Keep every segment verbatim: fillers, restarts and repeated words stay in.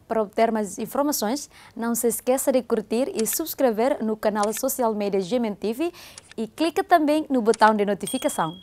Para obter mais informações, não se esqueça de curtir e subscrever no canal social media G M N T V e clica também no botão de notificação.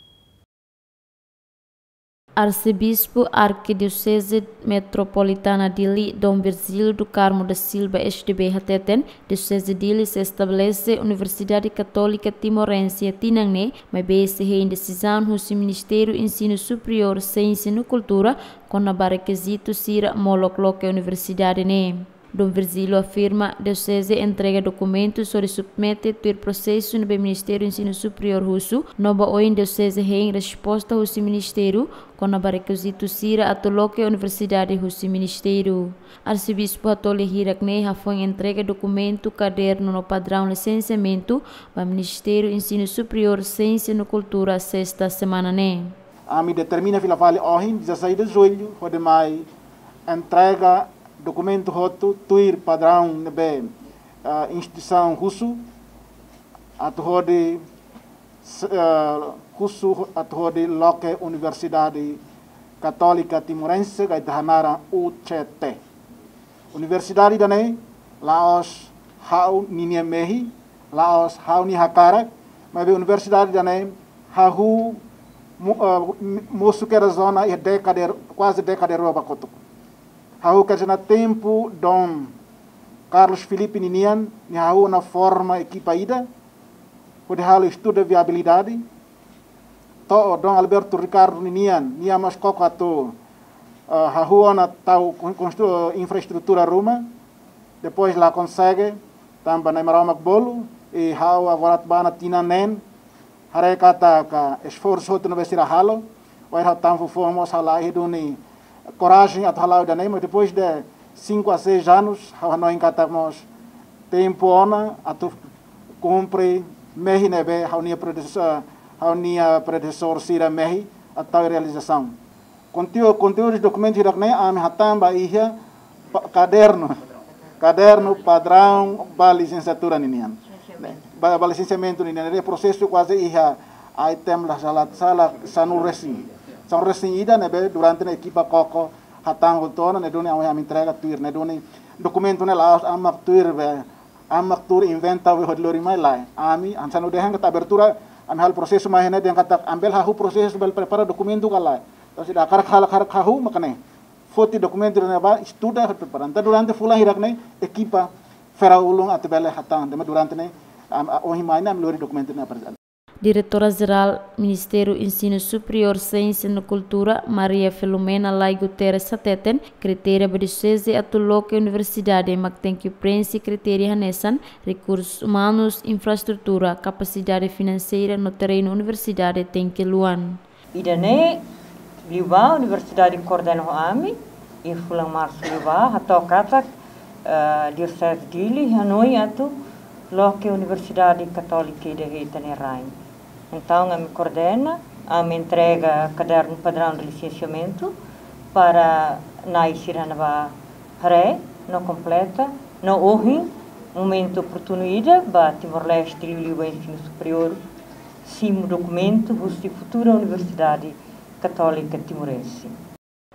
Arsebispu Arkidioseze Metropolitana Dili, Dom Virgílio do Carmo da Silva, S D B, hateten, Dioseze Dili sei estabelese Universidade Katólika Timorense tinan ne'e, maibé sei hein desizaun husi Ministériu Ensinu Superiór, Siénsia no Kultura, kona-ba rekizitu sira molok loke universidade ne'e. Dom Virgílio afirma, Dioseze entrega dokumentu hodi submete tuir prosesu ne'ebé Ministériu Ensinu Superiór husu, no ba oin Dioseze hein resposta husi Ministériu kona-ba rekizitu sira atu loke universidade husi Ministériu. Arsebispu hato'o lia hirak ne'e hafoin entrega dokumentu, kadernu no padraun lisensiamentu ba Ministériu Ensinu Superiór, Siénsia no Kultura, sesta semana ne'e. Ami determina fila fali ohin, dezasseis de julho, hodi mai entrega dokumentu hotu tuir padraun ne'ebé, ah, instituisaun husu, atu hodi, s-, ah, husu atu hodi loke Universidade Katólika Timorense, ka ita hanaran U C T. Universidade ida-ne'e la'ós ha'u ninia mehi, la'ós ha'u-nia hakarak, maibé universidade ida-ne'e hahú mo-, ah, mosu kedas ona iha dékada, kuaze dékada rua ba kotuk. Hahú kedas ona tempu Dom Carlos Filipe ninian, nia hahú ona forma ekipa ida hodi halo estudu viabilidade. To'o Dom Alberto Ricardo ninian, nia mós koko atu, ah, hahú ona tau kon-, konstru-, infraestrutura ruma. Depois la konsege, tanba Na'i Maromak bolu, i ha'u agora atu bá ona tinan neen, haree katak esforsu hotu ne'ebé sira halo, wainhira ha'u tan fufuan mós ha'u la iha duni korajen atu hala'o ida-ne'e, mas depois de cinco a seis anos, ha'u hanoin katak mós tempu ona atu kumpre mehi ne'ebé ha'u-nia predesesór, ha'u-nia predesesór sira mehi atu tau realizasaun. Konteúdu, konteúdu dokumentu hirak-ne'e ami hatán ba iha pa-, kadernu. Kadernu padraun ba lisensiatura ninian. Ba, ba lisensiamentu ninian. Ne'e prosesu kuaze iha item la sala, sala sanulu-resin. Sanulu-resin ida ne'ebé durante ne'e ekipa koko hatán hotu ona, ne'e duni ami, ami entrega tuir, ne'e duni dokumentu ne'e la'ós ami mak tuir be, ami mak tuur inventa be hodi lori mai, lae. Ami, hanesan ha'u dehan katak abertura, ami halo prosesu mai ne'e dehan katak ami bele hahú prosesu, bele prepara dokumentu ka lae. Entaun se ida hakarak halo, hakarak hahú, mak ne'e foti dokumentu ne'ebá, estuda, prepara. Entaun durante fulan hirak-ne'e, ekipa fera ulun atu bele hatán, tanba durante ne'e, am, a, ohin mai ne'e, ami lori dokumentu ne'e aprezenta. Diretora Jerál Ministériu Ensinu Superiór, Siénsia no Kultura, Maria Filomena Lai Guterres hateten, kritéria ba dioseze atu loke universidade mak tenke preenxe kritéria hanesan rekursus umanus, infraestrutura, kapasidade finanseira no terrenu universidade tenke luan. Ida-ne'e liubá universidade koordena ho ami, iha fulan marsu liubá, hato'o katak, eh, Dioseze Dili hanoin atu loke Universidade Katólika ida iha ita-nia rain. Entaun, ami koordena, ami entrega kadernu padraun de lisensiamentu para nai sira ne'ebá haree no kompleta, no ohin, momentu oportunu ida ba Timor-Leste, liuliu ba ensinu superiór, simu dokumentu husi futura Universidade Katólika Timorense.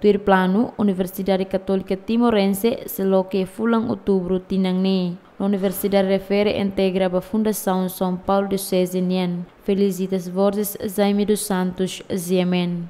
Tuir planu, Universidade Katólika Timorense sei loke fulan Outubru tinan ne'e. No universidade refere integra ba Fundasaun São Paulo Diocese nian. Felicitas Borges, Jaime dos Santos, G M N.